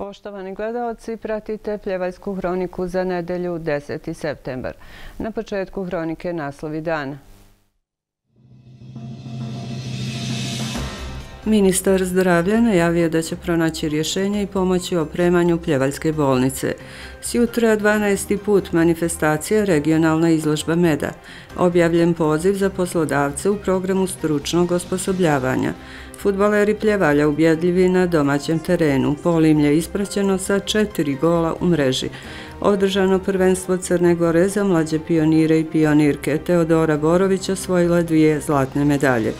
Poštovani gledaoci, pratite Pljevaljsku hroniku za nedelju 10. septembar. Na početku hronike naslovi dana. Ministar zdravlja najavio da će pronaći rješenje i pomoći u opremanju Pljevaljske bolnice. Sjutra 12. put manifestacija regionalna izložba meda. Objavljen poziv za poslodavce u programu stručnog osposobljavanja. Fudbaleri Pljevalja ubjedljivi na domaćem terenu. Polimlje ispraćeno sa 4 gola u mreži. Održano prvenstvo Crne Gore za mlađe pionire i pionirke. Teodora Borović osvojila 2 zlatne medalje.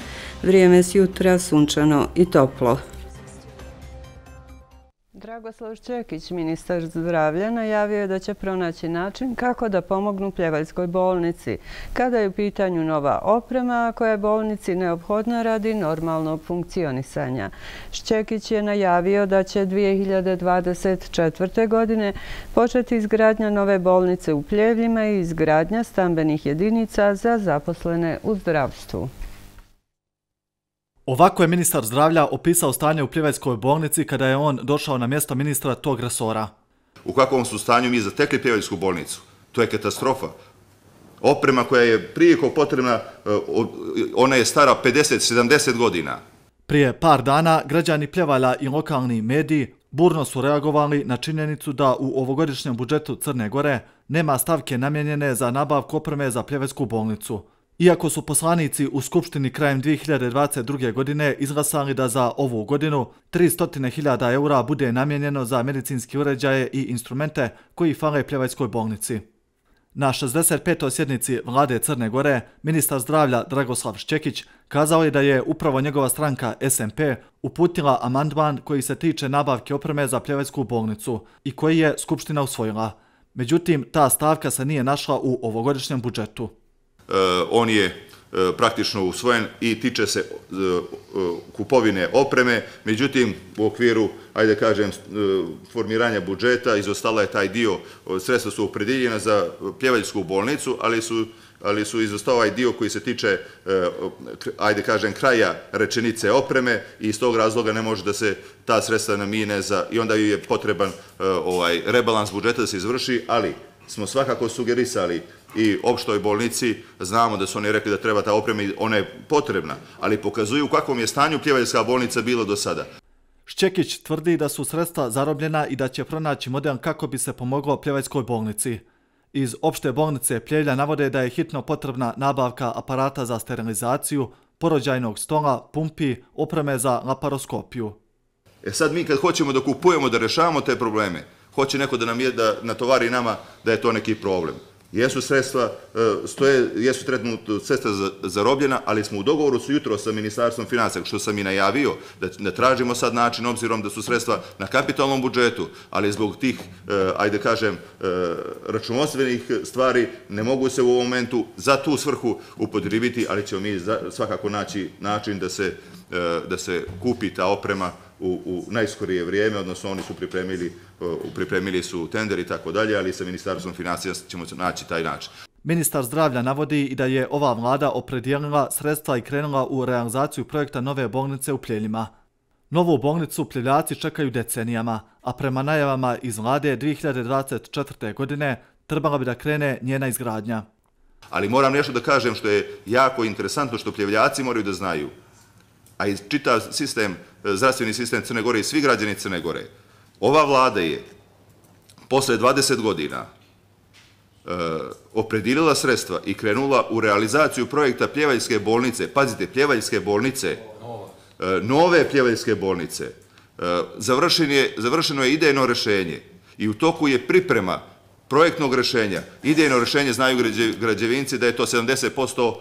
Vrijeme sjutra sunčano i toplo. Dragoslav Šćekić, ministar zdravlja, najavio je da će pronaći način kako da pomognu Pljevaljskoj bolnici, kada je u pitanju nova oprema koja je bolnici neophodna radi normalnog funkcionisanja. Šćekić je najavio da će 2024. godine početi izgradnja nove bolnice u Pljevljima i izgradnja stambenih jedinica za zaposlene u zdravstvu. Ovako je ministar zdravlja opisao stanje u Pljevaljskoj bolnici kada je on došao na mjesto ministra tog resora. U kakvom su stanju mi zatekli Pljevaljsku bolnicu? To je katastrofa. Oprema koja je prijeko potrebna, ona je stara 50-70 godina. Prije par dana građani Pljevalja i lokalni mediji burno su reagovali na činjenicu da u ovogodišnjem budžetu Crne Gore nema stavke namijenjene za nabavku opreme za Pljevaljsku bolnicu. Iako su poslanici u Skupštini krajem 2022. godine izglasali da za ovu godinu 300.000 eura bude namijenjeno za medicinski uređaje i instrumente koji fale Pljevaljskoj bolnici. Na 65. sjednici Vlade Crne Gore ministar zdravlja Dragoslav Šćekić kazao je da je upravo njegova stranka SMP uputila amandman koji se tiče nabavke opreme za Pljevaljsku bolnicu i koji je Skupština usvojila. Međutim, ta stavka se nije našla u ovogodišnjem budžetu. On je praktično usvojen i tiče se kupovine opreme, međutim u okviru, ajde kažem, formiranja budžeta izostala je taj dio, sredstva su opredijeljena za Pljevaljsku bolnicu, ali su izostao ovaj dio koji se tiče, ajde kažem, kraja rečenice opreme i iz tog razloga ne može da se ta sredstva namijene i onda je potreban rebalans budžeta da se izvrši, ali smo svakako sugerisali i opštoj bolnici, znamo da su oni rekli da treba ta oprema i ona je potrebna, ali pokazuju u kakvom je stanju Pljevaljska bolnica bilo do sada. Šćekić tvrdi da su sredstva zarobljena i da će pronaći model kako bi se pomoglo Pljevaljskoj bolnici. Iz opšte bolnice Pljevlja navode da je hitno potrebna nabavka aparata za sterilizaciju, porođajnog stola, pumpi, opreme za laparoskopiju. Sad mi kad hoćemo da kupujemo, da rešavamo te probleme, hoće neko da natovari nama da je to neki problem. Jesu sredstva, jesu trenutno sredstva zarobljena, ali smo u dogovoru su jutro sa Ministarstvom financija, što sam i najavio, da tražimo sad način, obzirom da su sredstva na kapitalnom budžetu, ali zbog tih, ajde kažem, računovodstvenih stvari ne mogu se u ovom momentu za tu svrhu upotrijebiti, ali ćemo mi svakako naći način da se kupi ta oprema u najskorije vrijeme, odnosno oni su pripremili su tender i tako dalje, ali sa Ministarstvom financija ćemo naći taj način. Ministar zdravlja navodi i da je ova vlada opredijelila sredstva i krenula u realizaciju projekta nove bolnice u Pljevljima. Novu bolnicu Pljevljaci čekaju decenijama, a prema najavama iz vlade 2024. godine trebala bi da krene njena izgradnja. Ali moram nešto da kažem što je jako interesantno, što Pljevljaci moraju da znaju, a i čitav sistem, zdravstveni sistem Crne Gore i svi građani Crne Gore. Ova vlada je posle 20 godina opredijelila sredstva i krenula u realizaciju projekta Pljevaljske bolnice, pazite, Pljevaljske bolnice, nove Pljevaljske bolnice. Završeno je idejno rešenje i u toku je priprema projektnog rešenja. Idejno rešenje znaju građevinci da je to 70%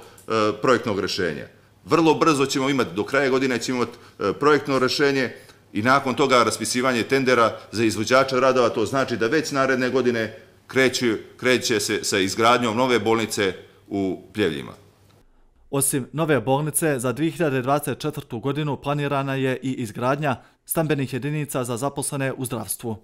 projektnog rešenja. Vrlo brzo ćemo imati, do kraja godine ćemo imati projektno rešenje i nakon toga raspisivanje tendera za izvođača radova, to znači da već naredne godine kreće se sa izgradnjom nove bolnice u Pljevljima. Osim nove bolnice, za 2024. godinu planirana je i izgradnja stambenih jedinica za zaposlene u zdravstvu.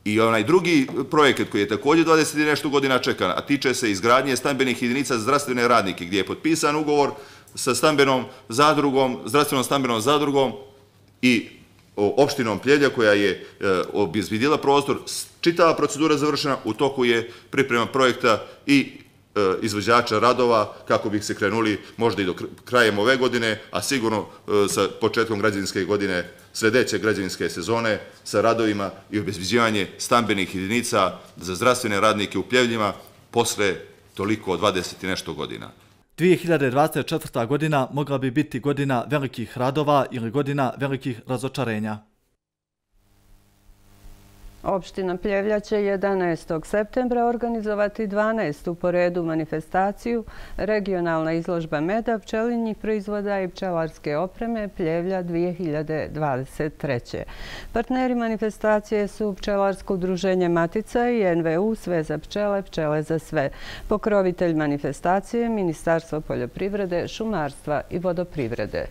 I onaj drugi projekat koji je također 20 i nešto godina čekan, a tiče se izgradnje stambenih jedinica za zdravstvene radnike, gdje je potpisan ugovor sa stambenom zadrugom, zdravstvenom stambenom zadrugom i opštinom Pljevlja koja je obezbedila prostor, čitava procedura završena, u toku je priprema projekta i izvođača radova kako bi se krenuli možda i do krajem ove godine, a sigurno sa početkom građevinske godine, sledeće građevinske sezone, sa radovima i obezbeđivanje stambenih jedinica za zdravstvene radnike u Pljevljima posle toliko 20 i nešto godina. 2024. godina mogla bi biti godina velikih radova ili godina velikih razočarenja. Opština Pljevlja će 11. septembra organizovati 12. po redu manifestaciju Regionalna izložba meda, pčelinjih proizvoda i pčelarske opreme Pljevlja 2023. Partneri manifestacije su Pčelarsko udruženje Matica i NVU Sve za pčele, pčele za sve. Pokrovitelj manifestacije Ministarstvo poljoprivrede, šumarstva i vodoprivrede.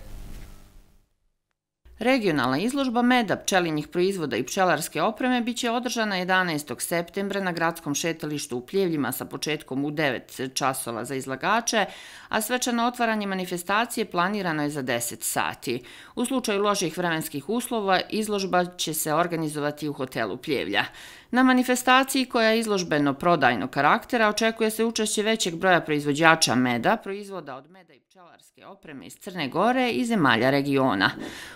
Regionalna izložba meda, pčelinjih proizvoda i pčelarske opreme biće održana 11. septembra na gradskom šetalištu u Pljevljima sa početkom u 9 časova za izlagače, a svečano otvaranje manifestacije planirano je za 10 sati. U slučaju loših vremenskih uslova, izložba će se organizovati u hotelu Pljevlja. Na manifestaciji, koja je izložbeno-prodajnog karaktera, očekuje se učešće većeg broja proizvođača meda, proizvoda od meda i pčelarske opreme iz Crne Gore i zemalja regiona.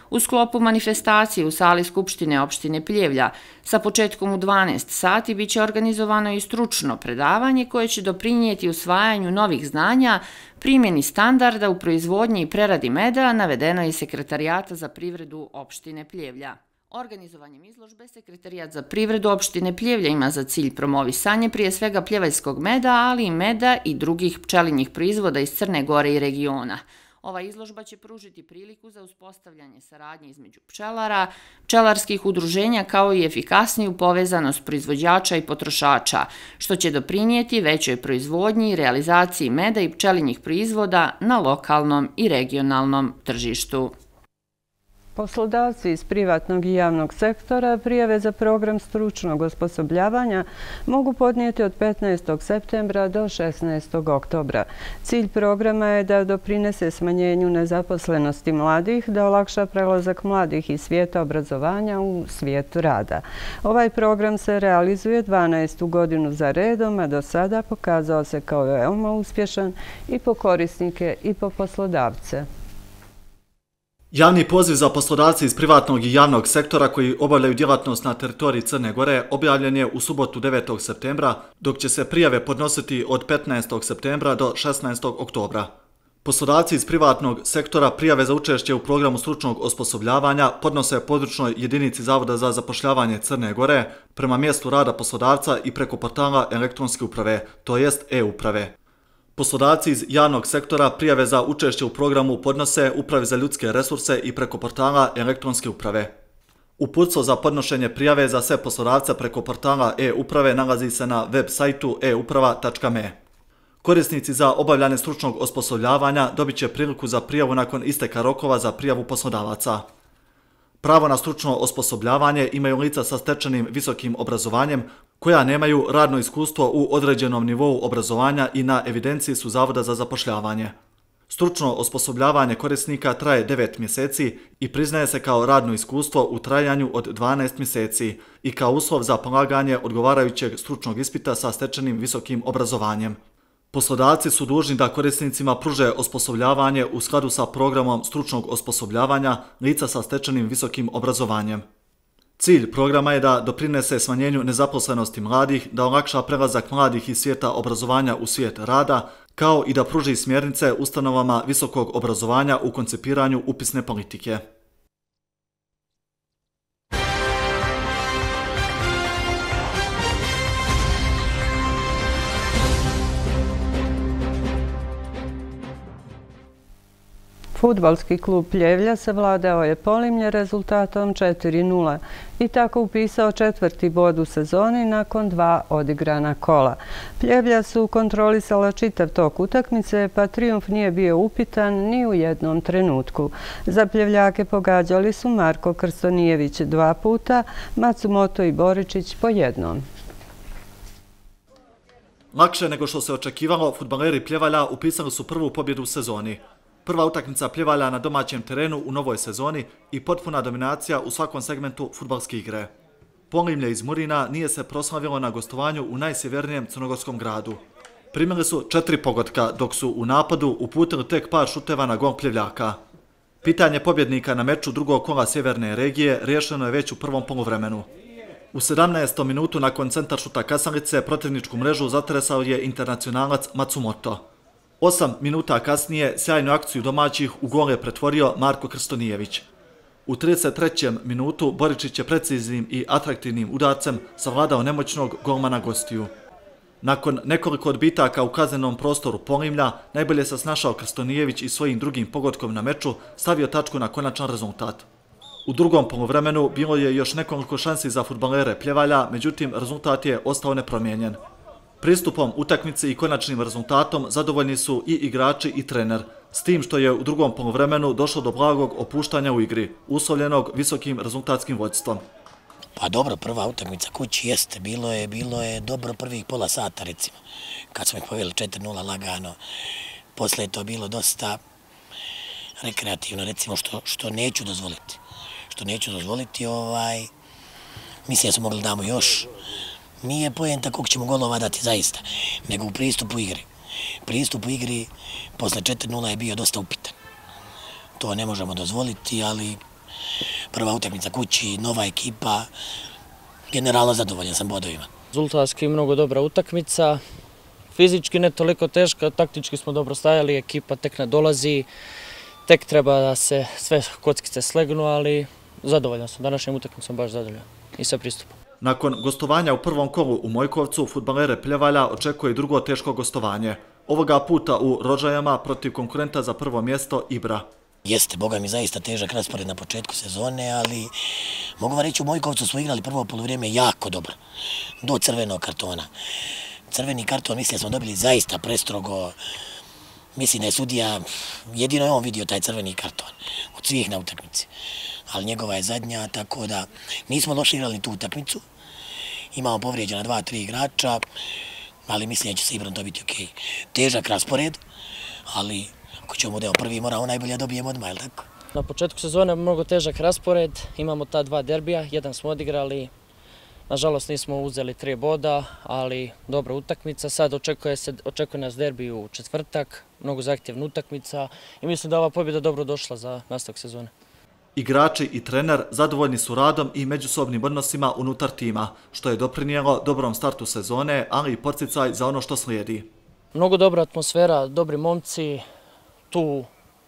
U sklopu manifestacije u sali Skupštine opštine Pljevlja sa početkom u 12 sati biće organizovano i stručno predavanje koje će doprinijeti usvajanju novih znanja, primjeni standarda u proizvodnji i preradi meda, navedeno je iz Sekretarijata za privredu opštine Pljevlja. Organizovanjem izložbe Sekretarijat za privredu opštine Pljevlja ima za cilj promovisanje prije svega pljevaljskog meda, ali i meda i drugih pčelinjih proizvoda iz Crne Gore i regiona. Ova izložba će pružiti priliku za uspostavljanje saradnje između pčelara, pčelarskih udruženja kao i efikasniju povezanost proizvođača i potrošača, što će doprinijeti većoj proizvodnji i realizaciji meda i pčelinjih proizvoda na lokalnom i regionalnom tržištu. Poslodavci iz privatnog i javnog sektora prijave za program stručnog osposobljavanja mogu podnijeti od 15. septembra do 16. oktobra. Cilj programa je da doprinese smanjenju nezaposlenosti mladih, da olakša prelazak mladih iz svijeta obrazovanja u svijet rada. Ovaj program se realizuje 12. godinu za redom, a do sada pokazao se kao veoma uspješan i po korisnike i po poslodavce. Javni poziv za poslodavce iz privatnog i javnog sektora koji obavljaju djelatnost na teritoriji Crne Gore objavljen je u subotu 9. septembra, dok će se prijave podnositi od 15. septembra do 16. oktobra. Poslodavci iz privatnog sektora prijave za učešće u programu stručnog osposobljavanja podnose područnoj jedinici Zavoda za zapošljavanje Crne Gore prema mjestu rada poslodavca i preko portala elektronske uprave, to jest e-uprave. Poslodavci iz javnog sektora prijave za učešće u programu podnose Upravi za ljudske resurse i preko portala elektronske uprave. Uputstvo za podnošenje prijave za sve poslodavce preko portala e-uprave nalazi se na web sajtu euprava.me. Korisnici za obavljanje stručnog osposobljavanja dobit će priliku za prijavu nakon isteka rokova za prijavu poslodavaca. Pravo na stručno osposobljavanje imaju lica sa stečenim visokim obrazovanjem koja nemaju radno iskustvo u određenom nivou obrazovanja i na evidenciji su Zavoda za zapošljavanje. Stručno osposobljavanje korisnika traje 9 mjeseci i priznaje se kao radno iskustvo u trajanju od 12 mjeseci i kao uslov za polaganje odgovarajućeg stručnog ispita sa stečenim visokim obrazovanjem. Poslodavci su dužni da korisnicima pruže osposobljavanje u skladu sa programom stručnog osposobljavanja lica sa stečenim visokim obrazovanjem. Cilj programa je da doprinese smanjenju nezaposlenosti mladih, da olakša prelazak mladih iz svijeta obrazovanja u svijet rada, kao i da pruži smjernice ustanovama visokog obrazovanja u koncipiranju upisne politike. Fudbalski klub Pljevlja savladao je Polimlje rezultatom 4:0 i tako upisao 4. bod u sezoni nakon 2 odigrana kola. Pljevlja su kontrolisala čitav tok utakmice, pa trijumf nije bio upitan ni u jednom trenutku. Za Pljevljake pogađali su Marko Krstonijević 2 puta, Matsumoto i Boričić po jednom. Lakše nego što se očekivalo, fudbaleri Pljevalja upisali su prvu pobjedu u sezoni. prva utakmica Pljevalja na domaćem terenu u novoj sezoni i potpuna dominacija u svakom segmentu fudbalske igre. Polimlje iz Murina nije se proslavilo na gostovanju u najsjevernijem crnogorskom gradu. Primili su 4 pogotka, dok su u napadu uputili tek par šuteva na gol Pljevljaka. Pitanje pobjednika na meču drugog kola sjeverne regije riješeno je već u prvom poluvremenu. U 17. minutu nakon centaršuta Kasalice protivničku mrežu zatresao je internacionalac Matsumoto. 8 minuta kasnije sjajnu akciju domaćih u gol je pretvorio Marko Krstonijević. U 33. minutu Boričić je preciznim i atraktivnim udarcem savladao nemoćnog golmana gostiju. Nakon nekoliko odbitaka u kaznenom prostoru Polimlja, najbolje se snašao Krstonijević i svojim drugim pogodkom na meču stavio tačku na konačan rezultat. U drugom poluvremenu bilo je još nekoliko šansi za fudbalere Pljevalja, međutim rezultat je ostao nepromijenjen. Pristupom utakmici i konačnim rezultatom zadovoljni su i igrači i trener, s tim što je u drugom poluvremenu došlo do blagog opuštanja u igri, uslovljenog visokim rezultatskim vođstvom. Pa dobro, prva utakmica kući jeste, bilo je dobro prvih pola sata recimo, kad smo ih poveli 4-0 lagano. Posle je to bilo dosta rekreativno, recimo što neću dozvoliti. Mislim da smo mogli damo još. Nije poenta koliko ćemo golova dati zaista, nego u pristupu igri. Pristup u igri posle 4-0 je bio dosta upitan. To ne možemo dozvoliti, ali prva utakmica kući, nova ekipa, generalno zadovoljan sam bodovima. Rezultatski mnogo dobra utakmica, fizički ne toliko teška, taktički smo dobro stajali, ekipa tek nadolazi, tek treba da se sve kockice slegnu, ali zadovoljan sam, današnjom utakmicom baš zadovoljan i sa pristupom. Nakon gostovanja u prvom kolu u Mojkovcu, fudbalere Pljevalja očekuje drugo teško gostovanje. Ovoga puta u Rožajama protiv konkurenta za prvo mjesto Ibra. Jeste, boga mi zaista težak raspored na početku sezone, ali mogu vam reći u Mojkovcu smo igrali prvo poluvrijeme jako dobro, do crvenog kartona. Crveni karton, mislim da smo dobili zaista prestrogo, mislim da je sudija, jedino je on vidio taj crveni karton od svih na utakmici, ali njegova je zadnja, tako da nismo loše igrali tu utakmicu, imamo povrijeđena 2-3 igrača, ali mislim da će se Ibrom dobiti okej. Težak raspored, ali ako ćemo budemo prvi, moramo najbolje dobijemo odmah, je li tako? Na početku sezone mnogo težak raspored, imamo ta 2 derbija, jedan smo odigrali, nažalost nismo uzeli 3 boda, ali dobra utakmica. Sad očekuje nas derbi u četvrtak, mnogo zahtjevna utakmica i mislim da ova pobjeda dobro došla za nastavak sezone. Igrači i trener zadovoljni su radom i međusobnim odnosima unutar tima, što je doprinijelo dobrom startu sezone, ali i podsticaj za ono što slijedi. Mnogo dobra atmosfera, dobri momci, tu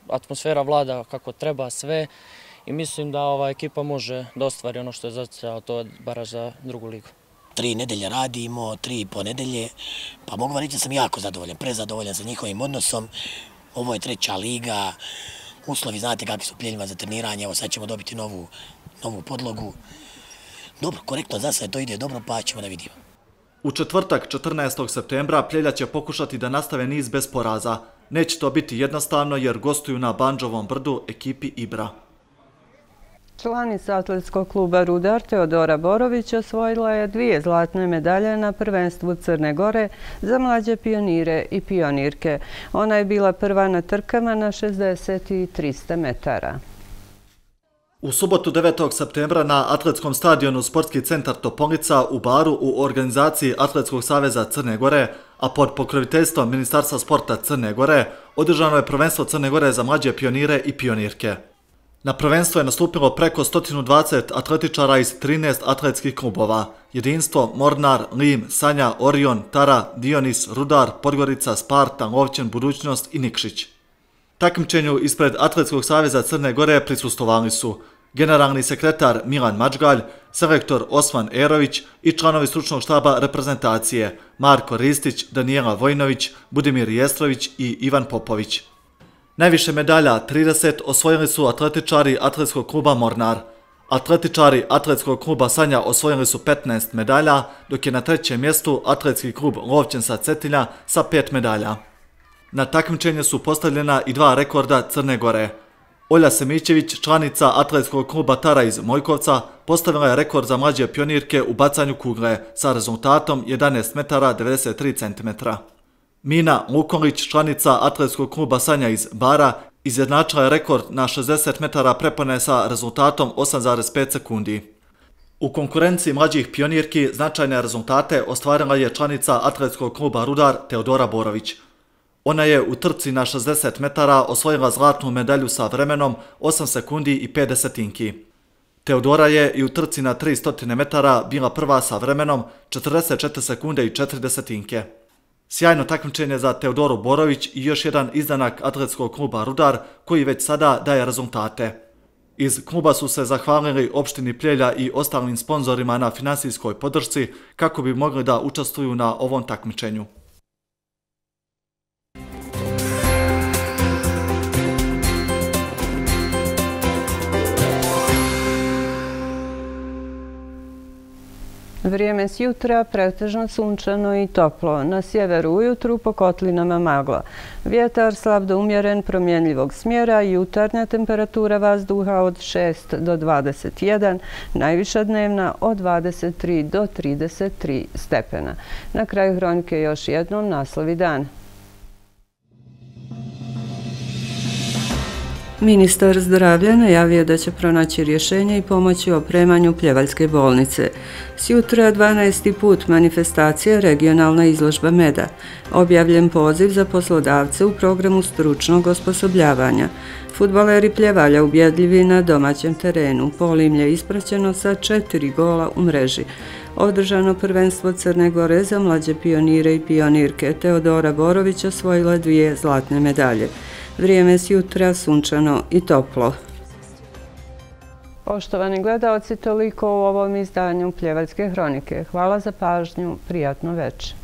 atmosfera vlada kako treba sve i mislim da ova ekipa može da ostvari ono što je zacrtao, to je baraž za drugu ligu. 3 nedelje radimo, 3,5 nedelje, pa mogu vam reći da sam jako zadovoljan, prezadovoljan sa njihovim odnosom. Ovo je 3. liga, uslovi znate kakvi su Pljeljima za treniranje, evo sad ćemo dobiti novu podlogu. Dobro, korektno, za sad to ide dobro, pa ćemo da vidimo. U četvrtak 14. septembra Pljelja će pokušati da nastave niz bez poraza. Neće to biti jednostavno jer gostuju na Bandžovom brdu ekipi Ibra. Članica atletskog kluba Rudar Teodora Borović osvojila je 2 zlatne medalje na prvenstvu Crne Gore za mlađe pionire i pionirke. Ona je bila prva na trkama na 60 i 300 metara. U subotu 9. septembra na atletskom stadionu Sportski centar Topolica u Baru u organizaciji Atletskog saveza Crne Gore, a pod pokroviteljstvom Ministarstva sporta Crne Gore, održano je prvenstvo Crne Gore za mlađe pionire i pionirke. Na prvenstvo je nastupilo preko 120 atletičara iz 13 atletskih klubova: Jedinstvo, Mornar, Lim, Sanja, Orion, Tara, Dionis, Rudar, Podgorica, Sparta, Lovćen, Budućnost i Nikšić. Takmičenju ispred Atletskog saveza Crne Gore prisustvovali su generalni sekretar Milan Mačgalj, selektor Osman Erović i članovi stručnog štaba reprezentacije Marko Ristić, Danijela Vojnović, Budimir Jestrović i Ivan Popović. Najviše medalja, 30, osvojili su atletičari Atletskog kluba Mornar. Atletičari Atletskog kluba Sanja osvojili su 15 medalja, dok je na 3. mjestu Atletski klub Lovćen sa Cetilja sa 5 medalja. Na takmičenje su postavljena i 2 rekorda Crne Gore. Olja Semićević, članica Atletskog kluba Tara iz Mojkovca, postavila je rekord za mlađe pionirke u bacanju kugle sa rezultatom 11 metara 93 cm. Mina Lukolić, članica Atletskog kluba Sanja iz Bara, Izjednačila je rekord na 60 metara prepone sa rezultatom 8,5 sekundi. U konkurenciji mlađih pionirki značajne rezultate ostvarila je članica atletskog kluba Rudar Teodora Borović. Ona je u trci na 60 metara osvojila zlatnu medalju sa vremenom 8 sekundi i 5 desetinki. Teodora je i u trci na 300 metara bila prva sa vremenom 44 sekunde i 4 desetinke. Sjajno takmičenje za Teodoru Borović i još jedan izdanak atletskog kluba Rudar koji već sada daje rezultate. Iz kluba su se zahvalili opštini Pljevlja i ostalim sponzorima na finansijskoj podršci kako bi mogli da učestvuju na ovom takmičenju. Vrijeme s jutra pretežno sunčano i toplo. Na sjeveru ujutru po kotlinama magla. Vjetar slab do umjeren promjenljivog smjera i jutarnja temperatura vazduha od 6 do 21, najviša dnevna od 23 do 33 stepena. Na kraju hronike još jednom naslovi dana. Ministar zdravlja najavio da će pronaći rješenje i pomoći u opremanju Pljevaljske bolnice. Sjutra 12. put manifestacija regionalna izložba meda. Objavljen poziv za poslodavce u programu stručnog osposobljavanja. Fudbaleri Pljevalja ubjedljivi na domaćem terenu. Polimlje ispraćeno sa 4 gola u mreži. Održano prvenstvo Crne Gore za mlađe pionire i pionirke. Teodora Borović osvojila 2 zlatne medalje. Vrijeme s jutra sunčano i toplo. Poštovani gledaoci, toliko u ovom izdanju Pljevaljske hronike. Hvala za pažnju, prijatno večer.